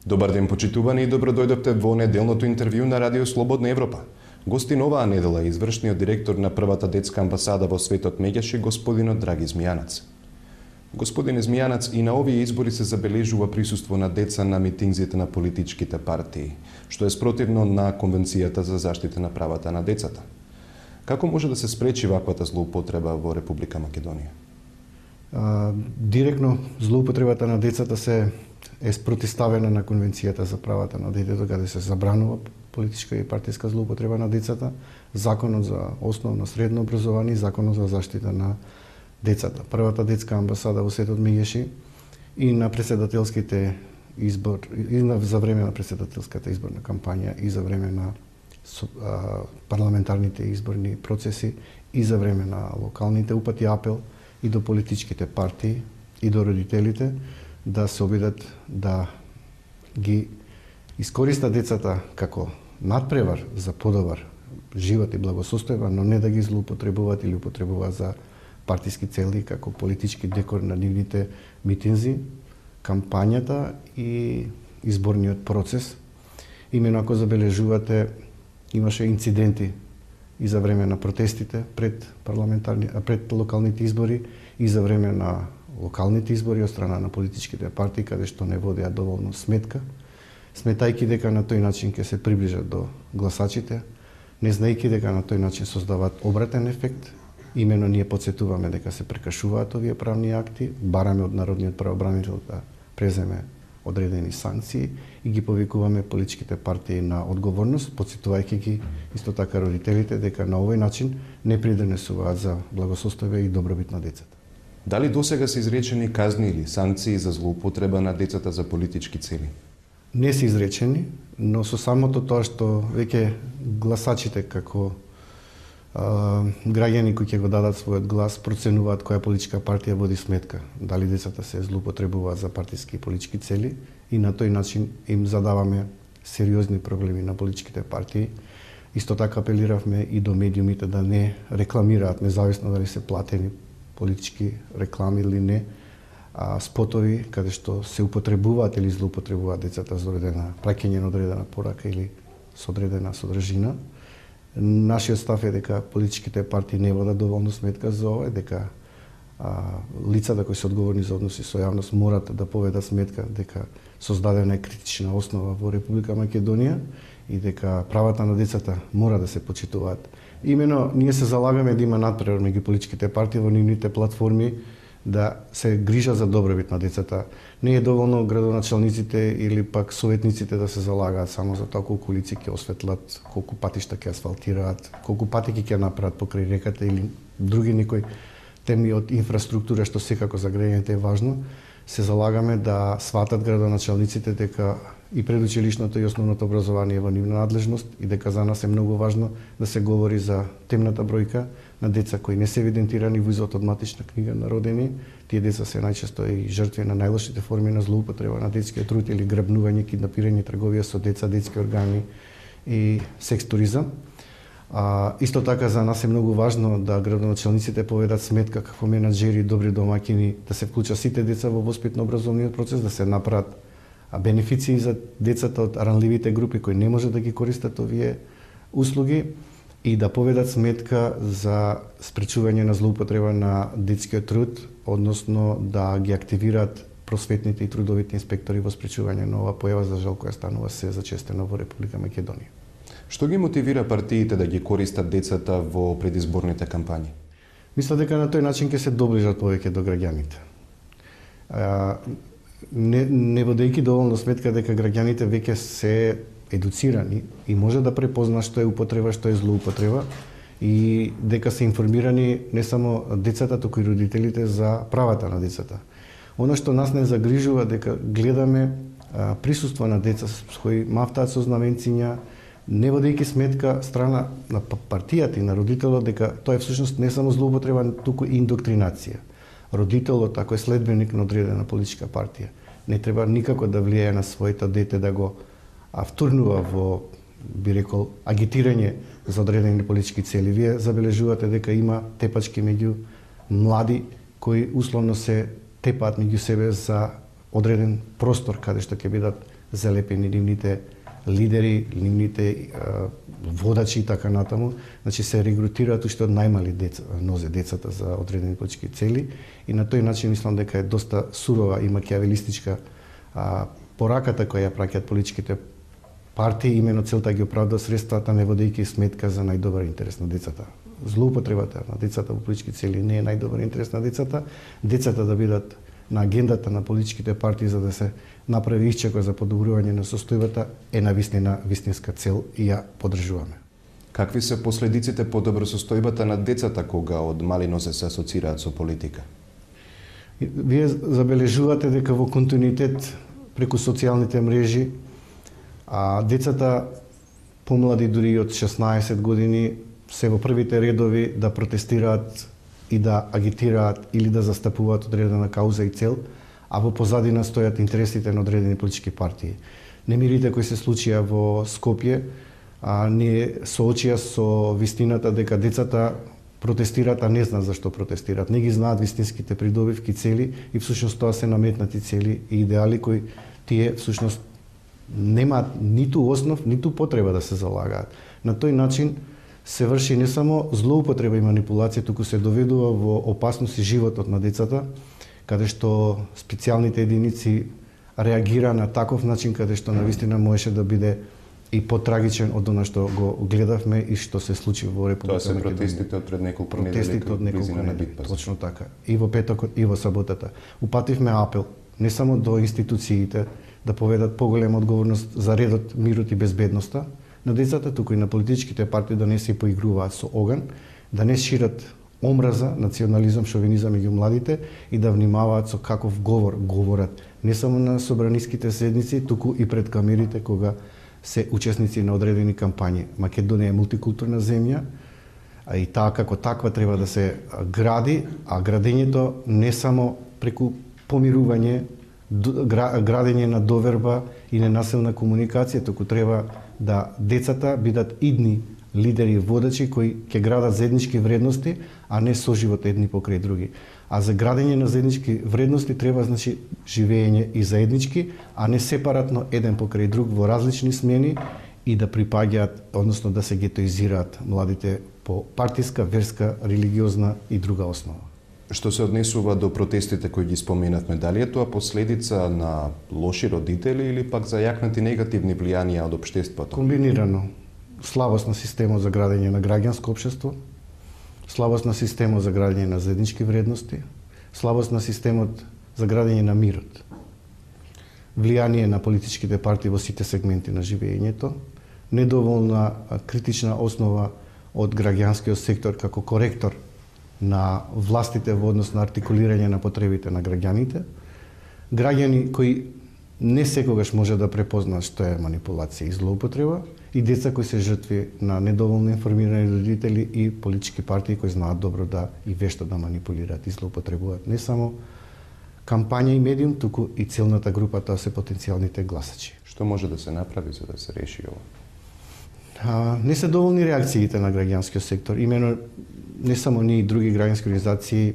Добар ден, почитувани, и добро дојдовте во неделното интервју на Радио Слободна Европа. Гостин оваа недела е извршниот директор на првата детска амбасада во светот Меѓаши, господинот Драги Змијанац. Господин Змијанац, и на овие избори се забележува присуство на деца на митингзите на политичките партии, што е спротивно на Конвенцијата за заштита на правата на децата. Како може да се спречи ваквата злоупотреба во Република Македонија? Директно злоупотребата на децата е спротивставена на Конвенцијата за правата на детето, каде се забранува политичка и партиска злоупотреба на децата, Законот за основно средно образование и Законот за заштита на децата. Првата детска амбасада во светот Меѓаши и на претседателските избори, и за време на претседателската изборна кампања, и за време на парламентарните изборни процеси, и за време на локалните упати апел и до политичките партии и до родителите да се обидат да ги искористат децата како надпревар за подобар живот и благосостојба, но не да ги злоупотребуваат или употребуваат за партиски цели како политички декор на нивните митинзи, кампањата и изборниот процес. Имено ако забележувате, имаше инциденти и за време на протестите пред локалните избори и за време на локалните избори од страна на политичките партии, каде што не водеа доволно сметка, сметајќи дека на тој начин ќе се приближат до гласачите, не знаејќи дека на тој начин создаваат обратен ефект. Имено ние потсетуваме дека се прекршуваат овие правни акти, бараме од Народниот правобранител да преземе одредени санкции и ги повикуваме политичките партии на одговорност, потсетувајќи ги исто така родителите дека на овој начин не придонесуваат за благосостојба и добробит на децата. Дали досега се изречени казни или санкции за злоупотреба на децата за политички цели? Не се изречени, но со самото тоа што веќе гласачите како граѓани кои ќе го дадат својот глас проценуваат која политичка партија води сметка, дали децата се злоупотребуваат за партиски и политички цели, и на тој начин им задаваме сериозни проблеми на политичките партии. Исто така апелиравме и до медиумите да не рекламираат, независно дали се платени политички реклами или не, спотови каде што се употребуваат или злоупотребуваат децата за праќање на одредена порака или со одредена содржина. Нашиот став е дека политичките партии не водат доволно сметка за ова, дека лицата кои се одговорни за односи со јавност морат да поведат сметка дека создадена е критична основа во Република Македонија и дека правата на децата мора да се почитуваат. Имено ние се залагаме да има надпревар меѓу политичките партии во нивните платформи да се грижат за добробит на децата. Не е доволно градоначалниците или пак советниците да се залагаат само за тоа колку улици ќе осветлат, колку патишта ќе асфалтираат, колку патеки ќе направат покрај реката или други некои теми од инфраструктура што секако за граѓаните е важно. Се залагаме да сватат градоначалниците дека и предучилишното и основното образование е во нивна надлежност и дека за нас е многу важно да се говори за темната бројка на деца кои не се евидентирани во извод од матична книга на родени. Тие деца се најчесто и жртви на најлошите форми на злоупотреба на детскиот труд или грабнување, киднапирање, трговија со деца, детски органи и секс туризам. Исто така за нас е многу важно да градоначалниците поведат сметка како менаџери, добри домаќини, да се вклучат сите деца во воспитно-образовниот процес, да се направат бенефиции за децата од ранливите групи кои не може да ги користат овие услуги и да поведат сметка за спречување на злоупотреба на детскиот труд, односно да ги активираат просветните и трудовите инспектори во спречување на оваа појава, за жал која станува се зачестено во Република Македонија. Што ги мотивира партиите да ги користат децата во предизборните кампањи? Мислам дека на тој начин ќе се доближат повеќе до граѓаните. Не водејќи доволно сметка дека граѓаните веќе се едуцирани и може да препозна што е употреба, што е злоупотреба и дека се информирани не само децата, туку и родителите за правата на децата. Оно што нас не загрижува дека гледаме присуство на деца кои мафтаат со знаменциња, не водејќи сметка страна на партијата и на родителот дека тоа е всушност не само злоупотреба, туку и индоктринација. Родителот, ако е следбеник на одредена политичка партија, не треба никако да влијае на своето дете да го втурнува во, би рекол, агитирање за одредени политички цели. Вие забележувате дека има тепачки меѓу млади кои условно се тепаат меѓу себе за одреден простор каде што ќе бидат залепени нивните лидери, нивните водачи и така натаму. Значи се регрутираат уште од најмали нозе децата за одредени политички цели и на тој начин мислам дека е доста сурова и макиавелистичка пораката која ја праќаат политичките партии, имено целта ги оправда средствата, не водејќи сметка за најдобар интерес на децата. Злоупотребата на децата во политички цели не е најдобар интерес на децата. Децата да бидат на агендата на политичките партии за да се направи исчека за подобрување на состојбата е навистина вистинска цел и ја поддржуваме. Какви се последиците по добро состојбата на децата кога од мали нозе се асоцираат со политика? Вие забележувате дека во континуитет преку социјалните мрежи децата помлади дури од 16 години се во првите редови да протестираат и да агитираат или да застапуваат одредена кауза и цел, а во позадина стојат интересите на одредени политички партии. Немирите кои се случија во Скопје не соочија со вистината дека децата протестираат, а не знаат зашто протестираат. Не ги знаат вистинските придобивки цели и всушност тоа се наметнати цели и идеали кои тие всушност немаат ниту основ, ниту потреба да се залагаат. На тој начин се врши не само злоупотреба и манипулација, туку се доведува во опасност и животот на децата, каде што специјалните единици реагира на таков начин каде што навистина можеше да биде и потрагичен од она што го гледавме и што се случи во Република Македонија. Тоа се протестите од пред неколку недели, точно така. И во петокот и во саботата. Упативме апел не само до институциите да поведат поголема одговорност за редот, мирот и безбедноста на децата, туку и на политичките партии да не се поигруваат со оган, да не шират омраза, национализам, шовинизам меѓу младите и да внимаваат со каков говор говорат не само на собраниските седници, туку и пред камерите кога се учесници на одредени кампањи. Македонија е мултикултурна земја, а и таа како таква треба да се гради, а градењето не само преку помирување, градење на доверба и ненасилна комуникација, туку треба да децата бидат идни лидери и водачи кои ќе градат заеднички вредности, а не соживот едни покрај други. А за градење на заеднички вредности треба значи живење и заеднички, а не сепаратно еден покрај друг во различни смени и да припаѓаат, односно да се гетоизираат младите по партиска, верска, религиозна и друга основа. Што се однесува до протестите кои ги споменавме, дали е тоа последица на лоши родители или пак зајакнати негативни влијанија од општеството? Комбинирано. Слабост на системот за градење на граѓанско општество, слабост на системот за градење на заеднички вредности, слабост на системот за градење на мирот, влијание на политичките партии во сите сегменти на живењето, недоволна критична основа од граѓанскиот сектор како коректор на властите во однос на артикулирање на потребите на граѓаните, граѓани кои не секогаш може да препознаат што е манипулација и злоупотреба, и деца кои се жртви на недоволно информирани родители и политички партии кои знаат добро да и вешто да манипулираат и злоупотребуваат не само кампања и медиум, туку и целната група, тоа се потенцијалните гласачи. Што може да се направи за да се реши ова? Не се доволни реакциите на граѓанскиот сектор. Имено не само ние и други граѓански организации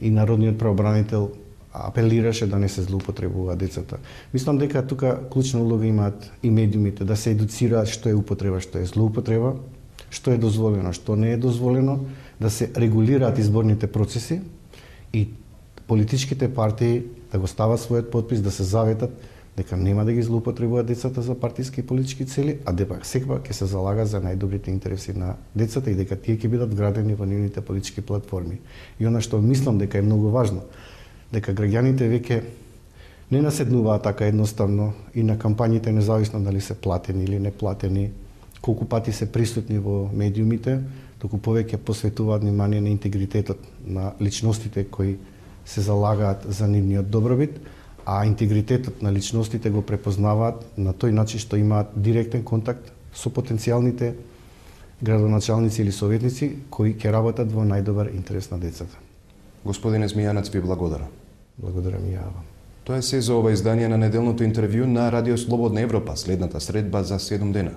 и Народниот правобранител апелираше да не се злоупотребува децата. Мислам дека тука клучна улога имаат и медиумите да се едуцираат што е употреба, што е злоупотреба, што е дозволено, што не е дозволено, да се регулираат изборните процеси и политичките партии да го стават својот подпис, да се заветат дека нема да ги злоупотребуваат децата за партиски и политички цели, а дека секогаш ќе се залага за најдобрите интереси на децата и дека тие ќе бидат вградени во нивните политички платформи. И она што мислам дека е многу важно, дека граѓаните веќе не наседнуваат така едноставно и на кампањите, независно дали се платени или не платени, колку пати се присутни во медиумите, туку повеќе посветуваат внимание на интегритетот на личностите кои се залагаат за нивниот добробит, а интегритетот на личностите го препознаваат на тој начин што имаат директен контакт со потенцијалните градоначалници или советници кои ќе работат во најдобар интерес на децата. Господине Змијанац, ви благодарам. Благодарам и јава. Тоа е се за ова издание на неделното интервју на Радио Слободна Европа, следната средба за 7 дена.